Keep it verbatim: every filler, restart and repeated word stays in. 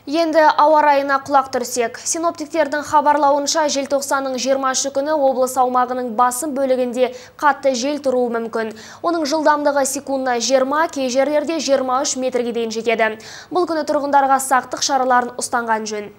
Енді ауа райына құлақ түрсек. Синоптиктердің хабарлауынша желтоқсанның жиырмасы күні облыс аумағының басым бөлігінде қатты жел тұруы мүмкін. Оның жылдамдығы секундына жиырма, кей жерлерде жиырма үш метрге дейін жетеді. Бұл күні тұрғындарға сақтық шараларын ұстанған жөн.